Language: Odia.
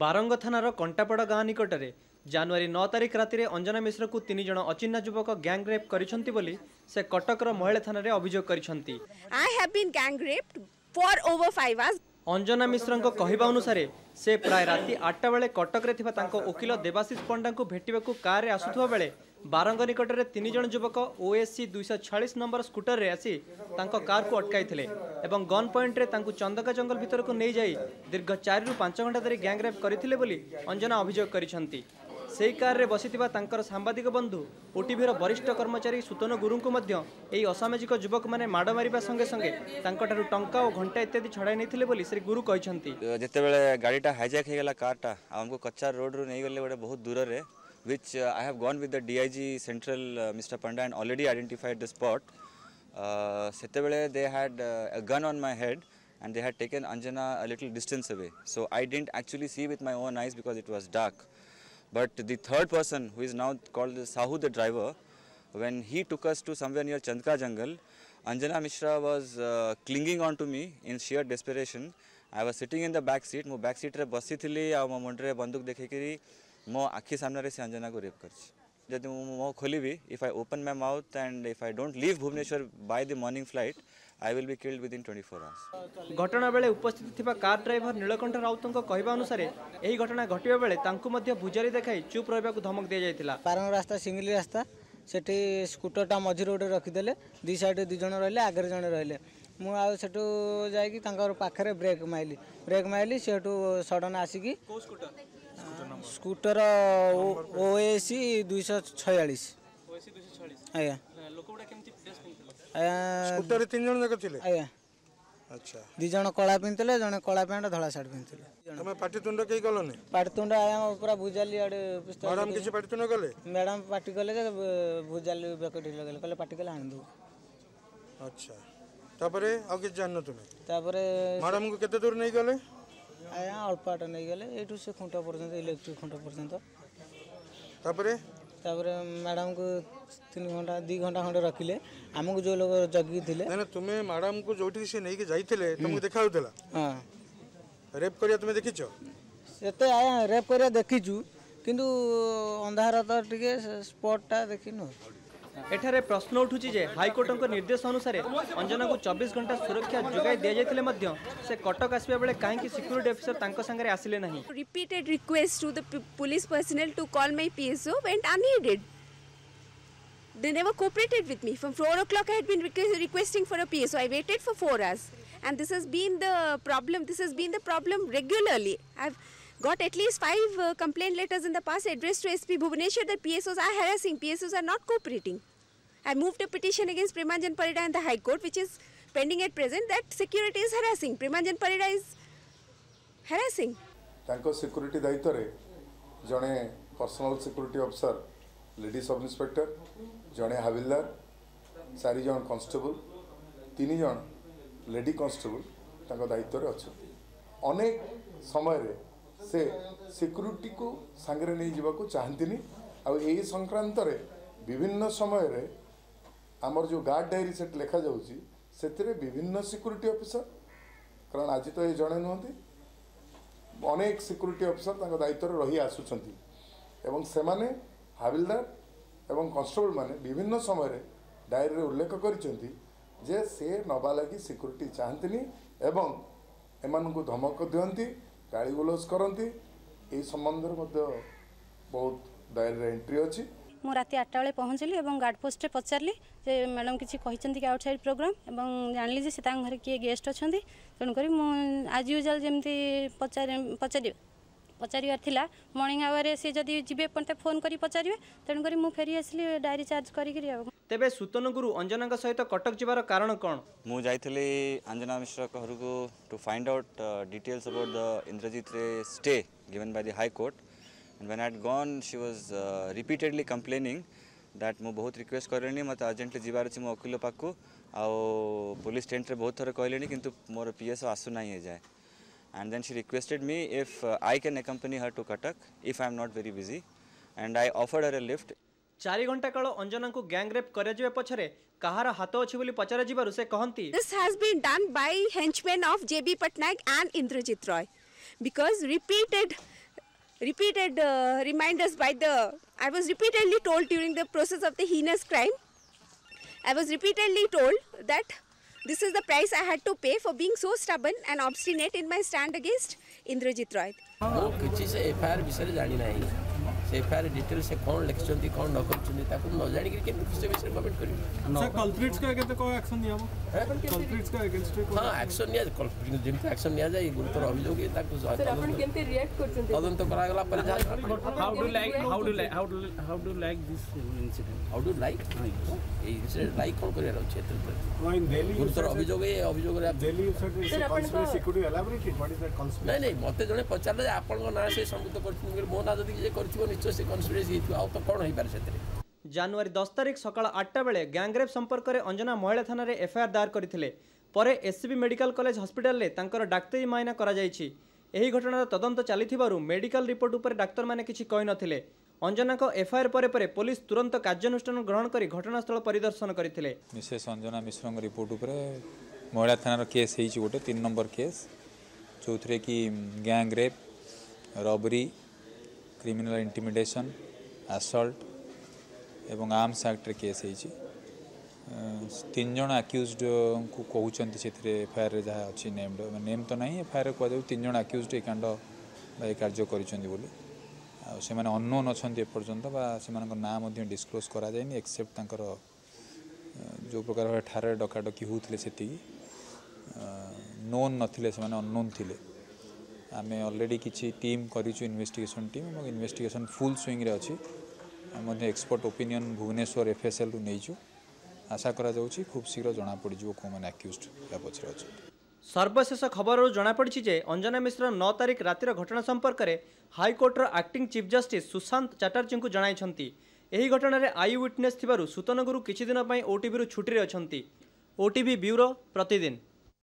ବାରଙ୍ଗ ଥାନାର କଣ୍ଟାପଡ଼ା ଗାଁ ନିକଟରେ ଜାନୁଆରୀ 9 ତାରିଖ ରାତିରେ ଅଞ୍ଜନା ମିଶ୍ରକୁ ତିନି ଜଣ ଅଚିହ୍ନା ଯୁବକ ଗ୍ୟାଙ୍ଗ ରେପ୍ କରିଛନ୍ତି ବୋଲି ସେ କଟକର ମହିଳା ଥାନାରେ ଅଭିଯୋଗ କରିଛନ୍ତି। I have been gang raped for over 5 hours. Anjana ମିଶ୍ରଙ୍କ କହିବା ଅନୁସାରେ, ସେ ପ୍ରାୟ ରାତି 8ଟା ବେଳେ କଟକରେ ଥିବା ତାଙ୍କ ଓକିଲ ଦେବାଶିଷ ପଣ୍ଡାଙ୍କୁ ଭେଟିବାକୁ କାରରେ ଆସୁଥିବା ବେଳେ ବାରଙ୍ଗ ନିକଟରେ ତିନି ଜଣ ଯୁବକ ଓଏସ୍ସି 246 ନମ୍ବର ସ୍କୁଟରରେ ଆସି ତାଙ୍କ କାରକୁ ଅଟକାଇଥିଲେ ଏବଂ ଗନ୍ ପଏଣ୍ଟରେ ତାଙ୍କୁ ଚନ୍ଦକା ଜଙ୍ଗଲ ଭିତରକୁ ନେଇଯାଇ ଦୀର୍ଘ 4ରୁ 5 ଘଣ୍ଟା ଧରି ଗ୍ୟାଙ୍ଗ ରେପ୍ କରିଥିଲେ ବୋଲି ଅଞ୍ଜନା ଅଭିଯୋଗ କରିଛନ୍ତି। ସେହି କାରରେ ବସିଥିବା ତାଙ୍କର ସାମ୍ବାଦିକ ବନ୍ଧୁ, ଓଟିଭିର ବରିଷ୍ଠ କର୍ମଚାରୀ ସୁତନ ଗୁରୁଙ୍କୁ ମଧ୍ୟ ଏହି ଅସାମାଜିକ ଯୁବକମାନେ ମାଡ଼ ମାରିବା ସଙ୍ଗେ ସଙ୍ଗେ ତାଙ୍କଠାରୁ ଟଙ୍କା ଓ ଘଣ୍ଟା ଇତ୍ୟାଦି ଛଡ଼ାଇ ନେଇଥିଲେ ବୋଲି ଶ୍ରୀ ଗୁରୁ କହିଛନ୍ତି। ଯେତେବେଳେ ଗାଡ଼ିଟା ହାଇଜାକ୍ ହେଇଗଲା, କାରଟା, ଆଉ ଆମକୁ କଚ୍ଚା ରୋଡ଼ରୁ ନେଇଗଲେ ଗୋଟେ ବହୁତ ଦୂରରେ, which I have gone with the DIG Central, Mr. Panda, and already identified the spot. ସେତେବେଳେ they had a gun on my head and they had taken Anjana a little distance away. So I didn't actually see with my own eyes because it was dark. But the third person, who is now called the Sahu, the driver, when he took us to somewhere near Chandka jungle, Anjana Mishra was clinging on to me in sheer desperation. I was sitting in the back seat. ମୁଁ ବ୍ୟାକ୍ ସିଟ୍ରେ ବସିଥିଲି ଆଉ ମୋ ମୁଣ୍ଡରେ ବନ୍ଧୁକ ଦେଖେଇକିରି ମୋ ଆଖି ସାମ୍ନାରେ ସେ ଅଞ୍ଜନାକୁ ରେପ୍ କରିଛି। ଯଦି ମୁଁ ମୁହଁ ଖୋଲିବି, if I open my mouth and if I don't leave Bhubaneswar by the morning flight, I will be killed within 24 hours. ଘଟଣା ବେଳେ ଉପସ୍ଥିତ ଥିବା କାର୍ ଡ୍ରାଇଭର ନୀଳକଣ୍ଠ ରାଉତଙ୍କ କହିବା ଅନୁସାରେ, ଏହି ଘଟଣା ଘଟିବା ବେଳେ ତାଙ୍କୁ ମଧ୍ୟ ଭୁଜାଲି ଦେଖାଇ ଚୁପ୍ ରହିବାକୁ ଧମକ ଦିଆଯାଇଥିଲା। ବାରଙ୍ଗ ରାସ୍ତା ସିଙ୍ଗିଲି ରାସ୍ତା, ସେଠି ସ୍କୁଟରଟା ମଝିରେ ଗୋଟେ ରଖିଦେଲେ। ଦୁଇ ସାଇଡ଼ରେ ଦୁଇ ଜଣ ରହିଲେ, ଆଗରେ ଜଣେ ରହିଲେ। ମୁଁ ଆଉ ସେଠୁ ଯାଇକି ତାଙ୍କର ପାଖରେ ବ୍ରେକ୍ ମାଇଲି। ବ୍ରେକ୍ ମାଇଲି, ସେଠୁ ସଡ଼ନ୍ ଆସିକି ସ୍କୁଟର ଓଏସି 246 ଆଜ୍ଞା। ଆଜ୍ଞା। ସ୍କୁଟରରେ ତିନି ଜଣ ଯାକ ଥିଲେ? ଆଜ୍ଞା। ଦୁଇ ଜଣ କଳା ପିନ୍ଧିଥିଲେ, ଜଣେ କଳା ପ୍ୟାଣ୍ଟ ଧଳା ସାର୍ଟ ପିନ୍ଧିଥିଲେ। ତମେ ପାଟିତୁଣ୍ଡ କେହି କଲନି? ପାଟିତୁଣ୍ଡ ଆଜ୍ଞା, ପୁରା ଭୁଜାଲି ଆଡ଼େ ପିସ୍ତଲ। ମ୍ୟାଡ଼ାମ କିଛି ପାଟିତୁଣ୍ଡ କଲେ? ମ୍ୟାଡ଼ାମ ପାଟି କଲେ ଯେ ଭୁଜାଲି ବେକଟି ଲଗେଇଲେ, କହିଲେ ପାଟି କଲେ ଆଣିଦେବୁ। ଆଚ୍ଛା, ତାପରେ ଆଉ କିଛି ଜାଣିନ ତୁମେ? ତାପରେ ମ୍ୟାଡ଼ାମକୁ କେତେ ଦୂର ନେଇଗଲେ? ଆଜ୍ଞା, ଅଳ୍ପ ବାଟ ନେଇଗଲେ, ଏଇଠୁ ସେ ଖୁଣ୍ଟ ପର୍ଯ୍ୟନ୍ତ, ଇଲେକ୍ଟ୍ରିକ୍ ଖୁଣ୍ଟ ପର୍ଯ୍ୟନ୍ତ। ତାପରେ? ତାପରେ ମ୍ୟାଡ଼ାମକୁ 3 ଘଣ୍ଟା, 2 ଘଣ୍ଟା ଖଣ୍ଡେ ରଖିଲେ। ଆମକୁ ଯେଉଁ ଲୋକ ଜଗିକି ଥିଲେ। ନା ନା, ତୁମେ ମ୍ୟାଡ଼ାମକୁ ଯୋଉଠିକି ସେ ନେଇକି ଯାଇଥିଲେ, ତମକୁ ଦେଖା ଯାଉଥିଲା? ହଁ। ରେପ୍ କରିବା ତୁମେ ଦେଖିଛ? ସେତେ ଆଜ୍ଞା, ରେପ୍ କରିବା ଦେଖିଛୁ, କିନ୍ତୁ ଅନ୍ଧାର ତ ଟିକେ, ସ୍ପଟ୍ଟା ଦେଖିନୁ। ଏଠାରେ ପ୍ରଶ୍ନ ଉଠୁଛି ଯେ ହାଇକୋର୍ଟଙ୍କ ନିର୍ଦ୍ଦେଶ ଅନୁସାରେ ଅଞ୍ଜନାକୁ 24 ଘଣ୍ଟା ସୁରକ୍ଷା ଯୋଗାଇ ଦିଆଯାଇଥିଲେ ମଧ୍ୟ ସେ କଟକ ଆସିବା ବେଳେ କାହିଁକି ସିକ୍ୟୁରିଟି ଅଫିସର ତାଙ୍କ ସାଙ୍ଗରେ ଆସିଲେ ନାହିଁ? Repeated requests to the police personnel to call my PSO went unheeded. They never cooperated with me. From 4 o'clock, I had been requesting for a PSO. I waited for 4 hours. And this has been the problem. This has been the problem regularly. I've got at least five complaint letters in the past addressed to SP Bhubaneswar that PSOs are harassing, PSOs are not cooperating. I moved a petition against Premanjan Parida in the High Court, which is pending at present, that security is harassing. Premanjan Parida is harassing. ତାଙ୍କ ସିକ୍ୟୁରିଟି ଦାୟିତ୍ୱରେ ଜଣେ personal security officer, lady sub inspector, ଜଣେ ହାବିଲଦାର, ଚାରି ଜଣ କନଷ୍ଟେବଲ, ତିନି ଜଣ ଲେଡି କନଷ୍ଟେବଲ ତାଙ୍କ ଦାୟିତ୍ୱରେ ଅଛନ୍ତି। ଅନେକ ସମୟରେ ସେ ସିକ୍ୟୁରିଟିକୁ ସାଙ୍ଗରେ ନେଇଯିବାକୁ ଚାହାନ୍ତିନି। ଆଉ ଏହି ସଂକ୍ରାନ୍ତରେ ବିଭିନ୍ନ ସମୟରେ ଆମର ଯେଉଁ ଗାର୍ଡ଼ ଡାଏରୀ ସେଠି ଲେଖାଯାଉଛି, ସେଥିରେ ବିଭିନ୍ନ ସିକ୍ୟୁରିଟି ଅଫିସର, କାରଣ ଆଜି ତ ଏ ଜଣେ ନୁହନ୍ତି, ଅନେକ ସିକ୍ୟୁରିଟି ଅଫିସର ତାଙ୍କ ଦାୟିତ୍ୱରେ ରହି ଆସୁଛନ୍ତି ଏବଂ ସେମାନେ ହାବିଲଦାର ଏବଂ କନଷ୍ଟେବଳ ମାନେ ବିଭିନ୍ନ ସମୟରେ ଡାଏରୀରେ ଉଲ୍ଲେଖ କରିଛନ୍ତି ଯେ ସେ ନେବା ଲାଗି ସିକ୍ୟୁରିଟି ଚାହାନ୍ତିନି ଏବଂ ଏମାନଙ୍କୁ ଧମକ ଦିଅନ୍ତି, ଗାଳିଗୁଲଜ କରନ୍ତି। ଏହି ସମ୍ବନ୍ଧରେ ମଧ୍ୟ ବହୁତ ଡାଏରୀରେ ଏଣ୍ଟ୍ରି ଅଛି। ମୁଁ ରାତି 8ଟା ବେଳେ ପହଞ୍ଚିଲି ଏବଂ ଗାର୍ଡ଼ ପୋଷ୍ଟରେ ପଚାରିଲି ଯେ ମ୍ୟାଡ଼ାମ୍ କିଛି କହିଛନ୍ତି କି ଆଉଟସାଇଡ଼୍ ପ୍ରୋଗ୍ରାମ୍, ଏବଂ ଜାଣିଲି ଯେ ସେ ତାଙ୍କ ଘରେ କିଏ ଗେଷ୍ଟ ଅଛନ୍ତି। ତେଣୁକରି ମୁଁ ଆଜ୍ ୟୁଜୁଆଲ୍ ଯେମିତି ପଚାରିବାର ଥିଲା, ମର୍ଣ୍ଣିଂ ଆୱାରରେ ସେ ଯଦି ଯିବେ ମୋତେ ଫୋନ୍ କରି ପଚାରିବେ। ତେଣୁକରି ମୁଁ ଫେରି ଆସିଲି ଡାଏରୀ ଚାର୍ଜ କରିକିରି ଆଉ। ତେବେ ସୁତନ ଗୁରୁ ଅଞ୍ଜନାଙ୍କ ସହିତ କଟକ ଯିବାର କାରଣ କ'ଣ? ମୁଁ ଯାଇଥିଲି ଅଞ୍ଜନା ମିଶ୍ର ଘରକୁ to find out details about the Indrajit Ray stay given by the High Court. And when I had gone, she was repeatedly complaining that ମୁଁ ବହୁତ ରିକ୍ୱେଷ୍ଟ କଲିଣି, ମୋତେ ଅର୍ଜେଣ୍ଟଲି ଯିବାର ଅଛି ମୋ ଓକିଲ ପାଖକୁ, ଆଉ ପୋଲିସ ଟେଣ୍ଟରେ ବହୁତ ଥର କହିଲେଣି, କିନ୍ତୁ ମୋର ପିଏସ୍ଓ ଆସୁନାହିଁ ଏଯାଏ। And then she requested me if I can accompany her to Cuttack if I am not very busy, and I offered her a lift. 4 ଘଣ୍ଟା କାଳ ଅଞ୍ଜନାଙ୍କୁ ଗ୍ୟାଙ୍ଗ ରେପ୍ କରାଯିବା ପଛରେ କାହାର ହାତ ଅଛି ବୋଲି ପଚରାଯିବାରୁ ସେ କହନ୍ତି, This has been done by henchmen of J.B. Patnaik and Indrajit Roy because repeated Repeated reminders by the, I was repeatedly told during the process of the heinous crime, I was repeatedly told that this is the price I had to pay for being so stubborn and obstinate in my stand against Indrajit Roy. ମୁଁ କିଛି ସେ ଏଫଆଇଆର୍ ବିଷୟରେ ଜାଣିନାହିଁ। ସେ ଏଫଆଇଆର୍ ଡିଟେଲ୍ ସେ କ'ଣ ଲେଖିଛନ୍ତି, କ'ଣ ନ କରିଛନ୍ତି, ତାକୁ ନ ଜାଣିକିରି କେମିତି ସେ ବିଷୟରେ କମେଣ୍ଟ କରିବି? ସାର୍, କଲପ୍ରିଟ୍ସଙ୍କ ଏଗେନ୍ଷ୍ଟ କ'ଣ ଆକ୍ସନ୍ ନିଆହବ? କଲପ୍ରିଟ୍ସଙ୍କ ଏଗେନ୍ଷ୍ଟ? ହଁ, ଆକ୍ସନ୍ ନିଆ, ଯେମିତି ଆକ୍ସନ୍ ନିଆଯାଏ, ଗୁରୁତର ଅଭିଯୋଗ, ତାକୁ କେମିତି ରିଆକ୍ଟ କରୁଛନ୍ତି? ତଦନ୍ତ କରାଗଲା ପରେ ଯାହା। How do like how do like how do how do like this incident? How do like ଏଇ ଇନସିଡେଣ୍ଟ? ଲାଇକ୍ କ'ଣ କରିବାର ଅଛି ଏଥିରେ? ଗୁରୁତର ଅଭିଯୋଗ, ଏ ଅଭିଯୋଗରେ ନାଇଁ ନାଇଁ, ମୋତେ ଜଣେ ପଚାରିଲେ ଯେ ଆପଣଙ୍କ ନାଁ ସେ ସମ୍ପୃକ୍ତ କରିଛନ୍ତି। ମୋ ନାଁ ଯଦି କିଏ କରିଥିବ, ନିଶ୍ଚୟ ସେ କନସ୍ପିରେସି ହେଇଥିବ, ଆଉ ତ କ'ଣ ହେଇପାରେ ସେଥିରେ? ଜାନୁଆରୀ 10 ତାରିଖ ସକାଳ 8ଟା ବେଳେ ଗ୍ୟାଙ୍ଗରେପ୍ ସମ୍ପର୍କରେ ଅଞ୍ଜନା ମହିଳା ଥାନାରେ ଏଫଆଇଆର୍ ଦାୟର କରିଥିଲେ। ପରେ ଏସ୍ସିବି ମେଡିକାଲ କଲେଜ ହସ୍ପିଟାଲରେ ତାଙ୍କର ଡାକ୍ତରୀ ମାଇନା କରାଯାଇଛି। ଏହି ଘଟଣାର ତଦନ୍ତ ଚାଲିଥିବାରୁ ମେଡିକାଲ ରିପୋର୍ଟ ଉପରେ ଡାକ୍ତରମାନେ କିଛି କହିନଥିଲେ। ଅଞ୍ଜନାଙ୍କ ଏଫଆଇଆର୍ ପରେ ପରେ ପୋଲିସ ତୁରନ୍ତ କାର୍ଯ୍ୟାନୁଷ୍ଠାନ ଗ୍ରହଣ କରି ଘଟଣାସ୍ଥଳ ପରିଦର୍ଶନ କରିଥିଲେ। ମିସେସ୍ ଅଞ୍ଜନା ମିଶ୍ରଙ୍କ ରିପୋର୍ଟ ଉପରେ ମହିଳା ଥାନାର କେସ୍ ହେଇଛି ଗୋଟେ 3 ନମ୍ବର କେସ୍, ଯେଉଁଥିରେ କି gang rape, robbery, criminal intimidation, assault ଏବଂ ଆର୍ମସ୍ ଆକ୍ଟରେ କେସ୍ ହେଇଛି। 3 ଜଣ ଆକ୍ୟୁଜ୍ଡଙ୍କୁ କହୁଛନ୍ତି ସେଥିରେ, ଏଫଆଇଆର୍ରେ ଯାହା ଅଛି ନେମ୍ଡ, ନେମ୍ ତ ନାହିଁ, ଏଫଆଇଆର୍ରେ କୁହାଯାଉଛି 3 ଜଣ ଆକ୍ୟୁଜ୍ଡ ଏ କାଣ୍ଡ ବା ଏ କାର୍ଯ୍ୟ କରିଛନ୍ତି ବୋଲି। ଆଉ ସେମାନେ ଅନନୋନ୍ ଅଛନ୍ତି ଏପର୍ଯ୍ୟନ୍ତ ବା ସେମାନଙ୍କ ନାଁ ମଧ୍ୟ ଡିସକ୍ଲୋଜ୍ କରାଯାଇନି, ଏକ୍ସେପ୍ଟ ତାଙ୍କର ଯେଉଁ ପ୍ରକାର ଭାବେ ଠାରରେ ଡକାଡକି ହେଉଥିଲେ ସେତିକି। ନୋନ୍ ନଥିଲେ ସେମାନେ, ଅନନୋନ୍ ଥିଲେ। ଆମେ ଅଲରେଡ଼ି କିଛି ଟିମ୍ କରିଛୁ, ଇନଭେଷ୍ଟିଗେସନ୍ ଟିମ୍, ଏବଂ ଇନଭେଷ୍ଟିଗେସନ୍ ଫୁଲ୍ ସୁଇଙ୍ଗରେ ଅଛି। ଆମେ ମଧ୍ୟ ଏକ୍ସପର୍ଟ ଓପିନିଅନ୍ ଭୁବନେଶ୍ୱର ଏଫ୍ଏସ୍ଏଲ୍ରୁ ନେଇଛୁ। ଆଶା କରାଯାଉଛି ଖୁବ୍ ଶୀଘ୍ର ଜଣାପଡ଼ିଯିବ କେଉଁମାନେ ଆକ୍ୟୁଜ୍ଡ ୟା ପଛରେ ଅଛନ୍ତି। ସର୍ବଶେଷ ଖବରରୁ ଜଣାପଡ଼ିଛି ଯେ ଅଞ୍ଜନା ମିଶ୍ର 9 ତାରିଖ ରାତିର ଘଟଣା ସମ୍ପର୍କରେ ହାଇକୋର୍ଟର ଆକ୍ଟିଂ ଚିଫ୍ ଜଷ୍ଟିସ୍ ସୁଶାନ୍ତ ଚାଟାର୍ଜୀଙ୍କୁ ଜଣାଇଛନ୍ତି। ଏହି ଘଟଣାରେ I witness ଥିବାରୁ ସୁତନ ଗୁରୁ କିଛି ଦିନ ପାଇଁ ଓଟିଭିରୁ ଛୁଟିରେ ଅଛନ୍ତି। ଓଟିଭି ବ୍ୟୁରୋ, ପ୍ରତିଦିନ।